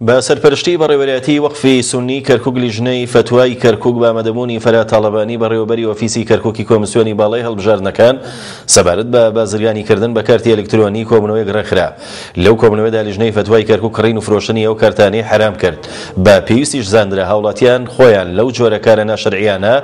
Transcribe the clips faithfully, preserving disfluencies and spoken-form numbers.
بە سەرپەرشتی بەڕێوەبەرایەتی وەقفی سوننی کەرکوک لیژنەی فەتوای کەرکوک بە ئامادەبوونی فەرهاد تاڵەبانی بەڕێوەبەری ئۆفیسی کەرکوکی کۆمسیۆنی باڵای هەڵبژاردنەکان سەبارەت بە بازرگانیکردن بە کارتی ئەلکترۆنی کۆبوونەوەیەک ڕێکخرا. لەو کۆبوونەوەدا لیژنەی فەتوای کەرکوک کڕین و فرۆشتنی ئەو کارتانەی حەرام کرد، بە پێویستیش زاندرا هاوڵاتیان خۆیان لەو جۆرە کارە ناشەرعیانە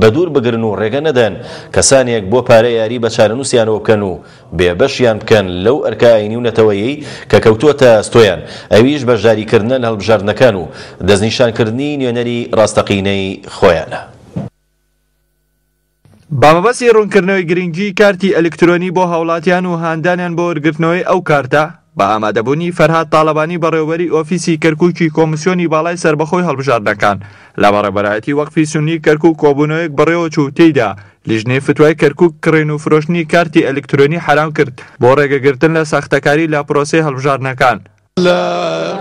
بەدوور بگرن و ڕێگە نەدەن کەسانێک بۆ پارە یاری بە چارەنووسیانەوە بکەن و بێبەشیان بکەن لەو ئەرکە ئایینی و نەتەوەیەی کە کەوتووەتە ئەستۆیان، ئەویش بەشداریکردنە لە هەڵبژاردنەکان و دەستنیشانکردنی نوێنەری ڕاستەقینەی خۆیانە. بە مەبەستی ڕوونکردنەوەی گرنگیی کارتی ئەلکترۆنی بۆ هاوڵاتیان و هاندانیان بۆ وەرگرتنەوەی ئەو کارتە، بە ئامادەبوونی فەرهاد تاڵەبانی بەڕێوەبەری ئۆفیسی کەرکوکی کۆمسیۆنی باڵای سەربەخۆی هەڵبژاردنەکان لە بەڕێوەبەرایەتی وەقفی سوننی کەرکوک کۆبوونەوەیەک بەڕێوەچوو و تێیدا لیژنەی فتوای کەرکوک کڕین و فرۆشتنی کارتی ئەلکترۆنی حەرام کرد بۆ ڕێگەگرتن لە ساختەکاری لە پرۆسەی هەڵبژاردنەکان. لە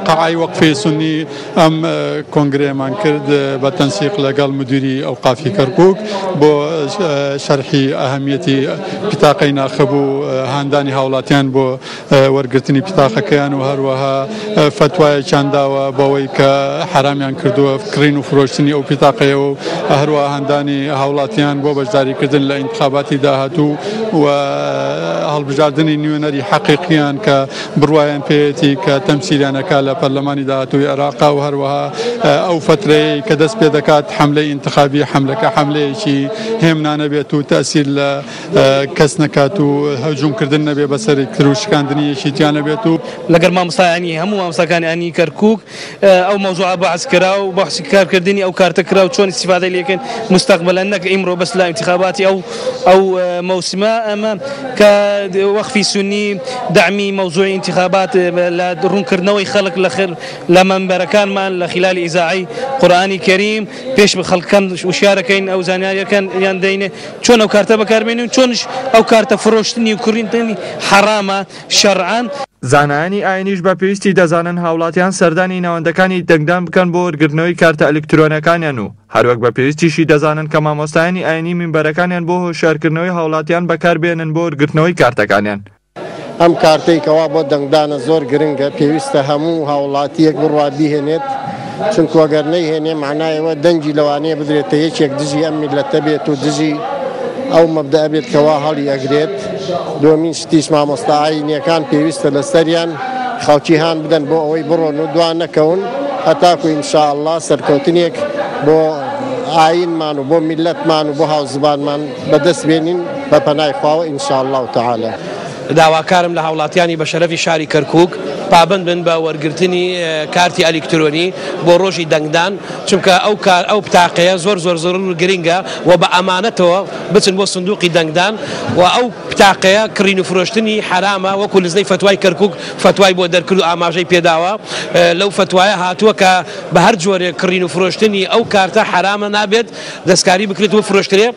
قەعای وەقفی سوننی ئەم کۆنگرەیەمان کرد بە تەنسیق لەگەڵ مدیری ئەوقافی کەرکوک بۆ شەرحی ئەهمیەتی پتاقەی ناخب و هاندانی هاوڵاتیان بۆ وەرگرتنی پتاقەکەیان و هەروەها فەتوایەکیان داوە بەوەی کە حەرامیان کردووە کڕین و فرۆشتنی ئەو پتاقەیە و هەروەها هاندانی هاوڵاتیان بۆ بەشداریکردن لە ئینتخاباتی داهاتوو و هەڵبژاردنی نوێنەری حەقیقیان کە بڕوایان پێیەتی کە تەمسیلیانەکە لە پەرلەمانی داهاتووی عێراقا و هەروەها ئەو فترەیە کە دەست پێ دەکات حملەی ئینتخابی حملەکە حملەیەکی هێمنانە بێت و تەسیر لە کەس نەکات و هەجوومکردن نەبێ بەسەر تر و شکاندنی یەکێتیان نەبێت و لەگەر مامۆستایانی هەموو مامۆستاکانی کەرکوک ئەو مەوزوعە بەحس کرا و بەحسی کارکردنی ئەو کارتە کرا و چۆن ئیستیفادەی لێکەن مستەقبەلەن نەک ئیمڕۆ بەس لە ئینتخاباتی ئەو ئەو مەوسمە ئەمە کە وەقفی سوننی دەعمی مەوزوعی ئینتخابات لە ڕوونکردنەوەی خەڵک لە مەنبەرەکانمان لە خلالی ئیزاعی قورئانی کەریم پێش خەڵکەکان وشیارەکەین ئەو زانیاریەکان یان دەینێ چۆن ئەو کارتە بەکاربێنین و چۆنش ئەو کارتە فرۆشتنی و کڕینی حەرامە شەرعان. زانایانی ئاینیش بە پێویستی دەزانن هاوڵاتیان سەردانی ناوەندەکانی دەنگدان بکەن بۆ وەرگرتنەوەی کارتە ئەلکترۆنەکانیان و هەروەک بە پێویستیشی دەزانن کە مامۆستایانی ئاینی مینبەرەکانیان بۆ هۆشیارکردنەوەی هاوڵاتیان بەکاربێنن بۆ وەرگرتنەوەی کارتەکانیان. ئەم کارتەی کەوا بۆ دەنگدانە زۆر گرنگە، پێویستە هەموو هاوڵاتیەک بڕوا بیهێنێت، چونکو ئەگەر نەیهێنێ معنایەوە دەنگی لەوانەیە بدرێتە یەکێک دژی ئەم میلەتە بێت و دژی ئەو مەبدە بێت کەوا هەڵی ئەگرێت. دومین شتیش مامۆستا ئاینیەکان پێویستە لەسەریان خەڵکی هان بدەن بۆ ئەوەی بڕۆن و دوا نەکەون هەتاکو ئینشاءاللە سەرکەوتنێک بۆ ئاینمان و بۆ میلەتمان و بۆ هاوزبانمان بەدەست بێنین بە پەنای خواوە ئینشاءاللە تعالی. داواکارم لە هاوڵاتیانی بە شەرەفی شاری کەرکوک پابند بن بە وەرگرتنی کارتی ئەلکترۆنی بۆ ڕۆژی دەنگدان، چونکە ئەو کار ئەو پتاقەیە زۆر زۆر زۆر گرنگە و بە ئەمانەتەوە بچن بۆ سندوقی دەنگدان و ئەو پتاقەیە کڕین و فرۆشتنی حرامە وەکو لزنەی فتوای کەرکوک فتوای بۆ دەرکرد و ئاماژەی پێداوە. لەو فتوایە هاتووە کە بە هەر جۆرێک کڕین و فرۆشتنی ئەو کارتە حرامە نابێت دەستکاری بکرێت و فرۆشترێ.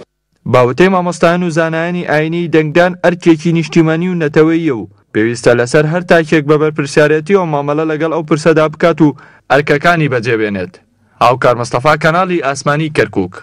باوتەی مامۆستایان و زانایانی ئاینی دەنگدان ئەرکێکی نیشتیمانی و نەتەوەیە و پێویستە لەسەر هەر تاکێک بە بەرپرسیارەتیەوە مامەڵە لەگەڵ ئەو پرسەدا بکات و ئەرکەکانی بەجێبێنێت. هاوکار مستەفا، کەناڵی ئاسمانی کەرکوک.